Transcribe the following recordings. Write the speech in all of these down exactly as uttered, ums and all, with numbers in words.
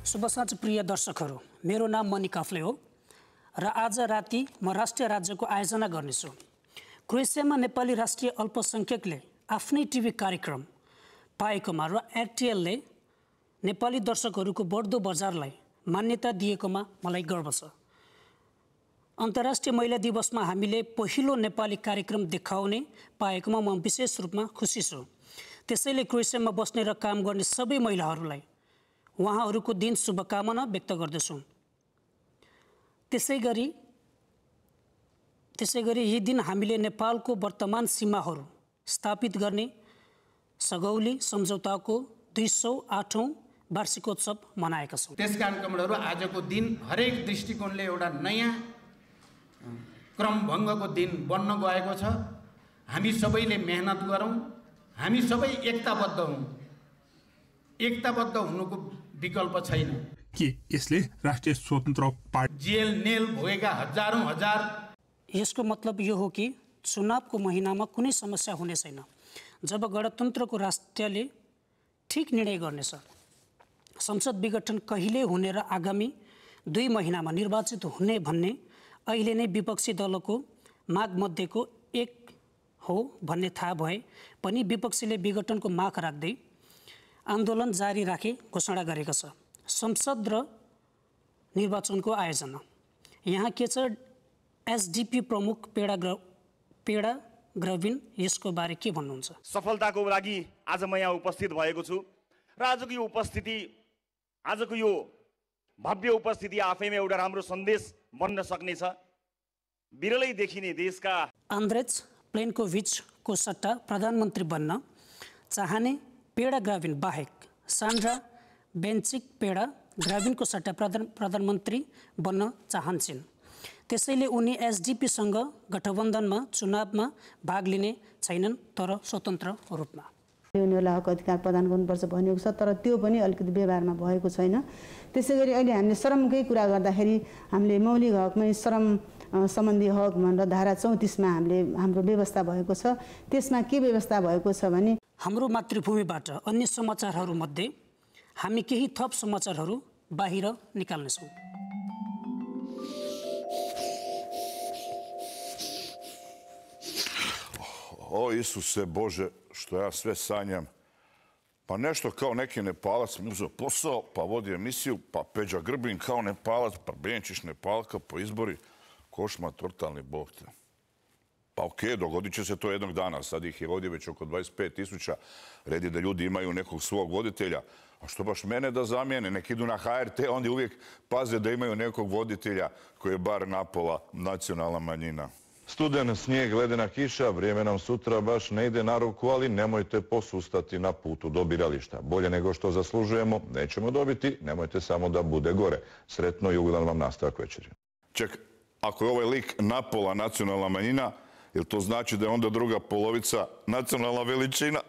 शुभ साँझ प्रिय दर्शकहरू, मेरो नाम मणि काफ्ले हो र आज राति म राष्ट्रिय राज्यको आयोजना गर्नेछु। क्रोएसियामा नेपाली राष्ट्रिय अल्पसंख्यकले आफ्नै टिभी कार्यक्रम पाएकोमा र एरटिएलले नेपाली दर्शकहरूको बढ्दो बजारलाई मान्यता दिएकोमा मलाई गर्व छ। अन्तर्राष्ट्रिय महिला दिवसमा हामीले पहिलो नेपाली कार्यक्रम देखाउने पाएकोमा म विशेष रूपमा खुसी छु। त्यसैले क्रोएसियामा बस्ने र काम गर्ने सबै महिलाहरूलाई उहाँहरूको दिन शुभकामना व्यक्त गर्दछु। त्यसैगरी त्यसैगरी यी दिन हामीले नेपालको वर्तमान सीमाहरू स्थापित गर्ने सगौली सम्झौताको दुई सौ आठौं वार्षिकोत्सव मनाएका छौँ। त्यसकारण कमरेडहरू आजको दिन हरेक दृष्टिकोणले एउटा नयाँ क्रमभङ्गको दिन बन्न गएको छ। हामी सबैले मेहनत गरौँ, हामी सबै एकताबद्ध हौँ। एकताबद्ध हुनुको विकल्प छैन। के यसले राष्ट्रिय स्वतन्त्र पार्टी जेल नेल भोगेका हजारौं हजार यसको मतलब यो हो कि चुनावको महिनामा कुनै समस्या हुने छैन, जब गणतन्त्रको राष्ट्रले ठीक निर्णय गर्नेछ। संसद विघटन कहिले हुने र आगामी दुई महिनामा निर्वाचित हुने भन्ने अहिले नै विपक्षी दलको माग मध्येको एक हो भन्ने थाहा भए पनि विपक्षीले विघटनको माग राख्दै आन्दोलन जारी राखे घोषणा गरेको छ। संसद र निर्वाचनको आयोजना यहाँ के छ? एसडिपी प्रमुख पेडा ग्र पेडा ग्रविन यसको बारे के भन्नुहुन्छ? सफलताको लागि आज म यहाँ उपस्थित भएको छु र आजको यो उपस्थिति आजको यो भव्य उपस्थिति आफैमा एउटा राम्रो सन्देश बन्न सक्नेछ। विरलै देखिने देशका आन्द्रेज प्लेन्कोभिचको सट्टा प्रधानमन्त्री बन्न चाहने पेडा ग्राभिन बाहेक सान्ड्रा बेन्चिक पेडा ग्राभिनको सट्टा प्रधान प्रधानमन्त्री बन्न चाहन्छन्। त्यसैले उनी एसडिपीसँग गठबन्धनमा चुनावमा भाग लिने छैनन्, तर स्वतन्त्र रूपमा। उनीहरूलाई हक अधिकार प्रदान गर्नुपर्छ भनिएको छ, तर त्यो पनि अलिकति व्यवहारमा भएको छैन। त्यसैगरी अहिले हामीले श्रमकै कुरा गर्दाखेरि हामीले मौलिक हकमै श्रम सम्बन्धी हक भनेर धारा चौतिसमा हामीले हाम्रो व्यवस्था भएको छ। त्यसमा के व्यवस्था भएको छ भने हाम्रो मातृभूमिबाट अन्य समाचारहरूमध्ये हामी केही थप समाचारहरू बाहिर निकाल्नेछौँ। O Isuse Bože, što ja sve sanjam. Pa nešto kao neki Nepalac mi uzeo posao, pa vodi emisiju, pa Peđa Grbin kao Nepalac, pa Benčić Nepalka, po izbori. Košma, totalni bog te. Pa okej, dogodit će se to jednog dana. Sad ih je ovdje već oko dvadeset pet tisuća. Red je da ljudi imaju nekog svog voditelja. A što baš mene da zamijene? Nek idu na ha er te, onda uvijek paze da imaju nekog voditelja koji je bar napola nacionalna manjina. Studen, snijeg, ledena kiša, vrijeme nam sutra baš ne ide na ruku, ali nemojte posustati na putu do birališta. Bolje nego što zaslužujemo nećemo dobiti, nemojte samo da bude gore. Sretno i ugodan vam nastavak večeri. Ček, ako je ovaj lik napola nacionalna manjina, jel to znači da je onda druga polovica nacionalna veličina?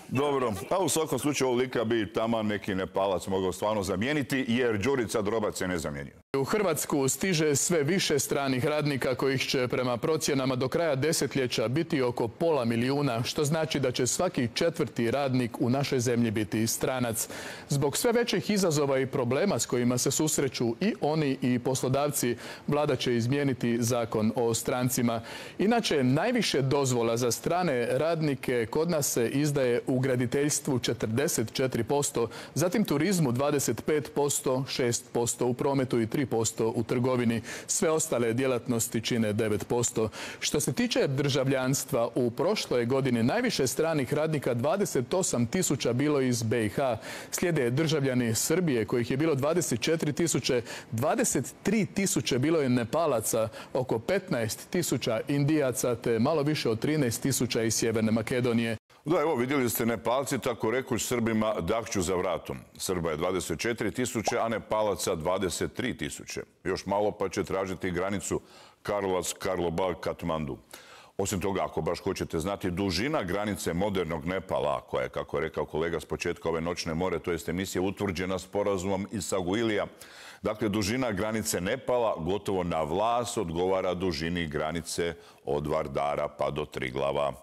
Dobro, a u svakom slučaju ovog lika bi taman neki Nepalac mogao stvarno zamijeniti, jer Đurica Drobac je ne zamijenio. U Hrvatsku stiže sve više stranih radnika kojih će prema procjenama do kraja desetljeća biti oko pola milijuna, što znači da će svaki četvrti radnik u našoj zemlji biti stranac. Zbog sve većih izazova i problema s kojima se susreću i oni i poslodavci, vlada će izmijeniti zakon o strancima. Inače, najviše dozvola za strane radnike kod nas se izdaje u graditeljstvu četrdeset četiri posto, zatim turizmu dvadeset pet posto, šest posto u prometu i tri posto u trgovini. Sve ostale djelatnosti čine devet posto. Što se tiče državljanstva, u prošloj godini najviše stranih radnika, dvadeset osam tisuća, bilo iz be i ha. Slijede državljani Srbije, kojih je bilo dvadeset četiri tisuće, dvadeset tri tisuće bilo je Nepalaca, oko petnaest tisuća Indijaca te malo više od trinaest tisuća iz Sjeverne Makedonije. Da, evo, vidjeli ste Nepalci, tako rekuć, Srbima dahću za vratom. Srba je dvadeset četiri tisuće, a Nepalaca dvadeset tri tisuće. Još malo pa će tražiti granicu Karlovac, Karlobag, Katmandu. Osim toga, ako baš hoćete znati, dužina granice modernog Nepala, koja je, kako je rekao kolega s početka ove noćne more, to jest emisija utvrđena sporazumom iz Saguilija. Dakle, dužina granice Nepala gotovo na vlas odgovara dužini granice od Vardara pa do Triglava.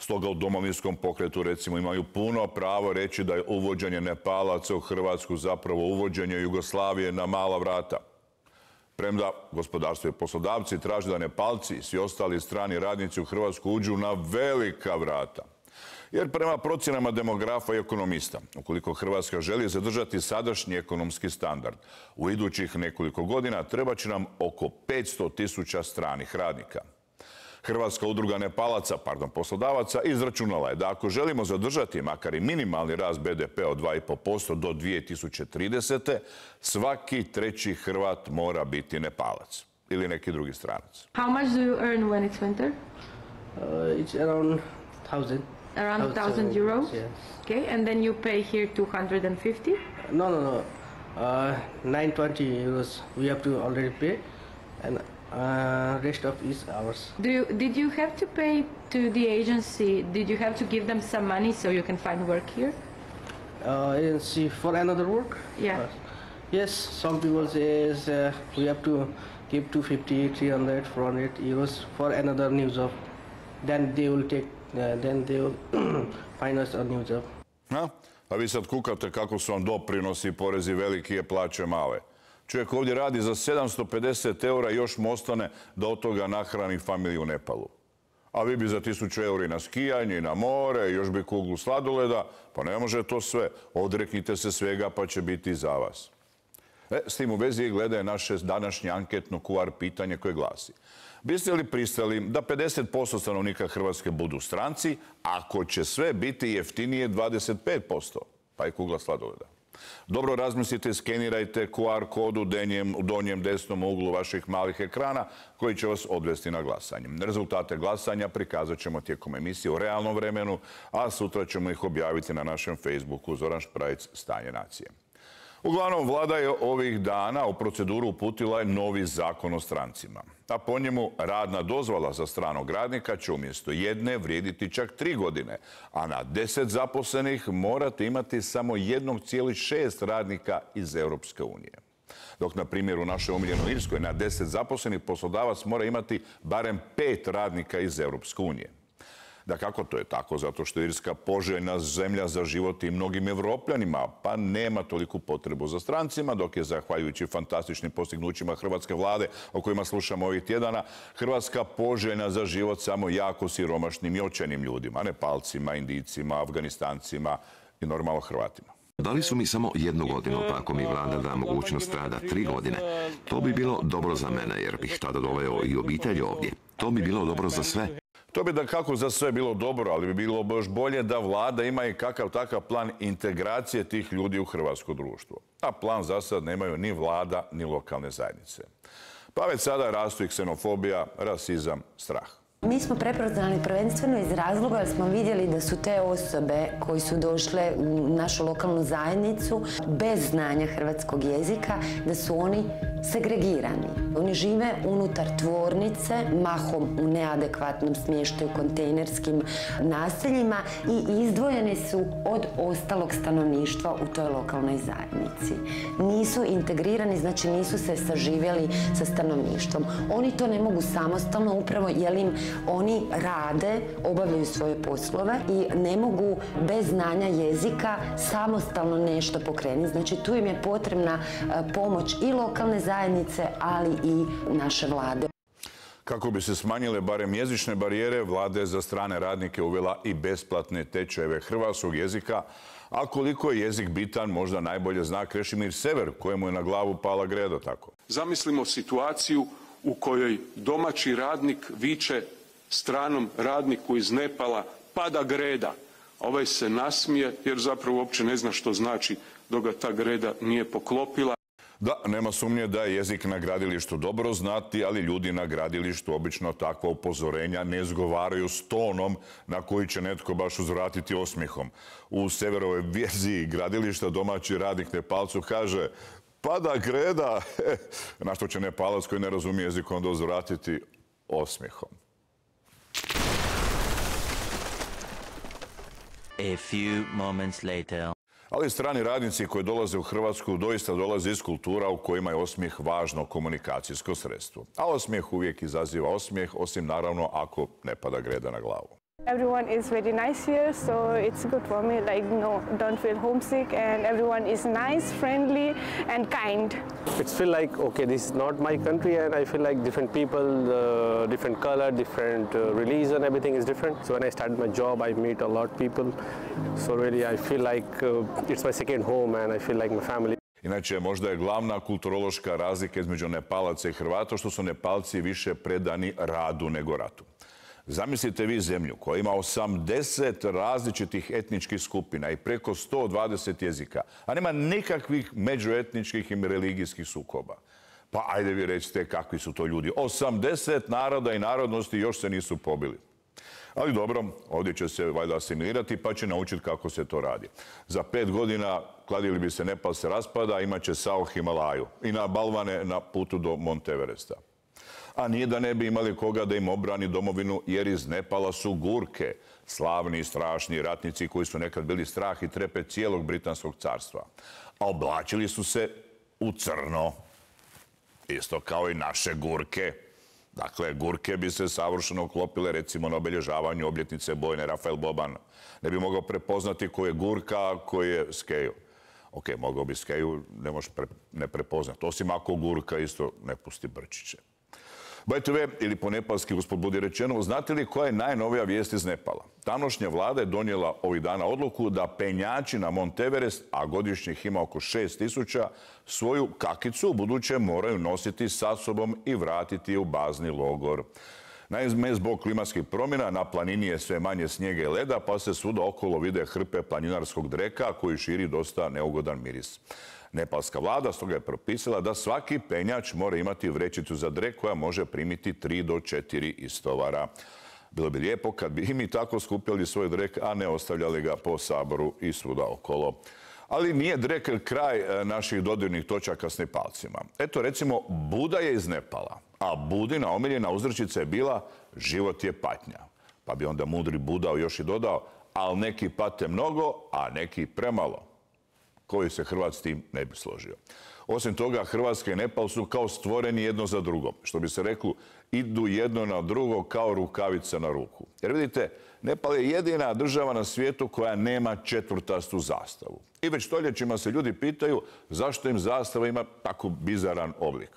Stoga u Domovinskom pokretu recimo imaju puno pravo reći da je uvođenje Nepalaca u Hrvatsku zapravo uvođenje Jugoslavije na mala vrata. Premda gospodarstvo i poslodavci traže da Nepalci i svi ostali strani radnici u Hrvatsku uđu na velika vrata. Jer prema procjenama demografa i ekonomista, ukoliko Hrvatska želi zadržati sadašnji ekonomski standard, u idućih nekoliko godina treba će nam oko petsto tisuća stranih radnika. Hrvatska udruga Nepalaca, pardon, poslodavaca, izračunala je da ako želimo zadržati makar i minimalni rast B D P od dva i pol posto do dvije tisuće tridesete. svaki treći Hrvat mora biti Nepalac ili neki drugi stranac. How much do you earn when it's winter? Uh, it's around thousand. Around one thousand euros? Yes. Okay, and then you pay here two hundred fifty? No, no, no. Uh, nine twenty euros we have to already pay, and uh, rest of is ours. Do you, did you have to pay to the agency? Did you have to give them some money so you can find work here? Uh, agency for another work? Yeah. Uh, yes, some people say is, uh, we have to give two fifty, three hundred, four hundred euros for another new job. Then they will take, uh, then they will find us a new job. Ha? A vi sad kukate kako su vam doprinosi i porezi veliki, je plaće male. Čovjek ovdje radi za sedamsto pedeset eura i još mu ostane da od toga nahrani familiju u Nepalu. A vi bi za tisuću eura i na skijanje i na more, još bi kuglu sladoleda, pa ne može to sve. Odreknite se svega pa će biti za vas. E, s tim u vezi gledaje naše današnje anketno Q R pitanje koje glasi: biste li pristali da pedeset posto stanovnika Hrvatske budu stranci, ako će sve biti jeftinije dvadeset pet posto, pa i kugla sladoleda? Dobro razmislite i skenirajte Q R kod u denjem, u donjem desnom uglu vaših malih ekrana koji će vas odvesti na glasanje. Rezultate glasanja prikazat ćemo tijekom emisije u realnom vremenu, a sutra ćemo ih objaviti na našem Facebooku Zoran Šprajc, Stanje nacije. Uglavnom, vlada je ovih dana u proceduru uputila je novi zakon o strancima. A po njemu radna dozvola za stranog radnika će umjesto jedne vrijediti čak tri godine, a na deset zaposlenih morate imati samo jedan zarez šest radnika iz Europske unije. Dok, na primjer, u našoj omiljenoj Irskoj na deset zaposlenih poslodavac mora imati barem pet radnika iz Europske unije. Da kako to je tako, zato što je Irska poželjna zemlja za život i mnogim Evropljanima, pa nema toliku potrebu za strancima, dok je, zahvaljujući fantastičnim postignućima hrvatske vlade, o kojima slušamo ovih tjedana, Hrvatska poželjna za život samo jako siromašnim i očajnim ljudima, Nepalcima, Indijcima, Afganistancima i normalno Hrvatima. Dali su mi samo jednu godinu, pa ako mi vlada da mogućnost rada tri godine, to bi bilo dobro za mene, jer bih tada doveo i obitelj ovdje. To bi bilo dobro za sve. To bi da kako za sve bilo dobro, ali bi bilo još bolje da vlada ima i kakav takav plan integracije tih ljudi u hrvatsko društvo. A plan za sad nemaju ni vlada, ni lokalne zajednice. Pa već sada rastu i ksenofobija, rasizam, strah. Mi smo prepoznali prvenstveno iz razloga jer smo vidjeli da su te osobe koji su došle u našu lokalnu zajednicu bez znanja hrvatskog jezika, da su oni segregirani. Oni žive unutar tvornice, mahom u neadekvatnom smještaju, kontejnerskim naseljima i izdvojeni su od ostalog stanovništva u toj lokalnoj zajednici. Nisu integrirani, znači nisu se saživjeli sa stanovništvom. Oni to ne mogu samostalno, upravo jer im oni rade, obavljaju svoje poslove i ne mogu bez znanja jezika samostalno nešto pokrenuti. Znači tu im je potrebna pomoć i lokalne zajednice, ali i naše vlade. Kako bi se smanjile barem jezične barijere, vlada je za strane radnike uvela i besplatne tečajeve hrvatskog jezika, a koliko je jezik bitan možda najbolje zna Krešimir Sever, kojemu je na glavu pala greda tako. Zamislimo situaciju u kojoj domaći radnik viče stranom radniku iz Nepala: pada greda. Ovaj se nasmije jer zapravo uopće ne zna što znači dok ga ta greda nije poklopila. Da, nema sumnje da je jezik na gradilištu dobro znati, ali ljudi na gradilištu obično takva upozorenja ne izgovaraju s tonom na koji će netko baš uzvratiti osmijehom. U Severovoj verziji gradilišta domaći radnik Nepalcu kaže: pada greda, na što će Nepalac koji ne razumije jezik onda uzvratiti osmijehom. A few moments later. Ali strani radnici koji dolaze u Hrvatsku doista dolaze iz kultura u kojima je osmijeh važno komunikacijsko sredstvo. A osmijeh uvijek izaziva osmijeh, osim naravno ako ne pada greda na glavu. Everyone is very nice here, so it's good for me. Like, no, don't feel homesick, and everyone is nice, friendly, and kind. It's feel like, okay, this is not my country, and I feel like different people, uh, different color, different uh, religion, everything is different. So when I started my job, I meet a lot of people. So really, I feel like uh, it's my second home, and I feel like my family. Inače, možda je glavna kulturološka razlika između Nepalaca i Hrvata što su Nepalci više predani radu nego ratu. Zamislite vi zemlju koja ima osamdeset različitih etničkih skupina i preko sto dvadeset jezika, a nema nikakvih međuetničkih i religijskih sukoba. Pa ajde vi recite kakvi su to ljudi. osamdeset naroda i narodnosti još se nisu pobili. Ali dobro, ovdje će se valjda asimilirati pa će naučiti kako se to radi. Za pet godina kladili bi se Nepal se raspada, imat će Sao Himalaju i na balvane na putu do Monteveresta. A nije da ne bi imali koga da im obrani domovinu, jer iz Nepala su Gurke, slavni i strašni ratnici koji su nekad bili strah i trepet cijelog Britanskog carstva. A oblačili su se u crno. Isto kao i naše Gurke. Dakle, Gurke bi se savršeno uklopile recimo na obilježavanju obljetnice bojne Rafael Boban. Ne bi mogao prepoznati ko je Gurka, a ko je Skeju. Ok, mogao bi Skeju, ne možeš pre, ne prepoznati. Osim ako Gurka isto ne pusti brčiće. By the way, ili po nepalski, gospod budi rečeno, znate li koja je najnovija vijest iz Nepala? Tamošnja vlada je donijela ovih dana odluku da penjači na Monteverest, a godišnje ih ima oko šest tisuća, svoju kakicu u buduće moraju nositi sa sobom i vratiti je u bazni logor. Naime, zbog klimatskih promjena na planini je sve manje snijega i leda, pa se svuda okolo vide hrpe planinarskog dreka koji širi dosta neugodan miris. Nepalska vlada stoga je propisala da svaki penjač mora imati vrećicu za drek koja može primiti tri do četiri istovara. Bilo bi lijepo kad bi i mi tako skupljali svoj drek, a ne ostavljali ga po Saboru i svuda okolo. Ali nije drek kraj naših dodirnih točaka s Nepalcima. Eto, recimo, Buda je iz Nepala, a Budina omiljena uzrečica je bila život je patnja. Pa bi onda mudri Buda još i dodao, ali neki pate mnogo, a neki premalo. Koji se Hrvat s tim ne bi složio. Osim toga, Hrvatska i Nepal su kao stvoreni jedno za drugo. Što bi se reklo, idu jedno na drugo kao rukavica na ruku. Jer vidite, Nepal je jedina država na svijetu koja nema četvrtastu zastavu. I već stoljećima se ljudi pitaju zašto im zastava ima tako bizaran oblik.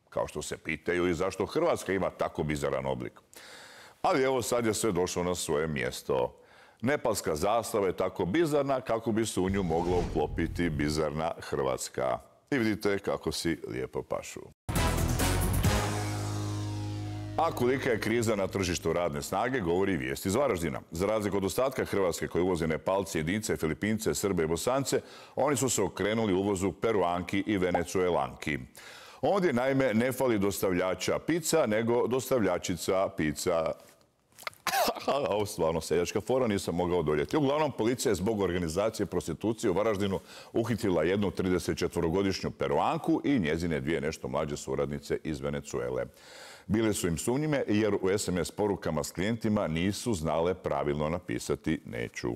Kao što se pitaju i zašto Hrvatska ima tako bizaran oblik. Ali evo sad je sve došlo na svoje mjesto. Nepalska zastava je tako bizarna kako bi se u nju mogla uklopiti bizarna Hrvatska. I vidite kako si lijepo pašu. A kolika je kriza na tržištu radne snage, govori vijest iz Varaždina. Za razliku od ostatka Hrvatske koji uvoze Nepalci, Jedince, Filipince, Srbe i Bosance, oni su se okrenuli uvozu Peruanki i Venecuelanki. Ovdje naime ne fali dostavljača pizza, nego dostavljačica pizza. Ovo stvarno seljačka fora, nisam mogao odoljeti. Uglavnom, policija je zbog organizacije prostitucije u Varaždinu uhitila jednu tridesetčetvorogodišnju Peruanku i njezine dvije nešto mlađe suradnice iz Venecuele. Bile su im sumnjive jer u es em es porukama s klijentima nisu znale pravilno napisati neću.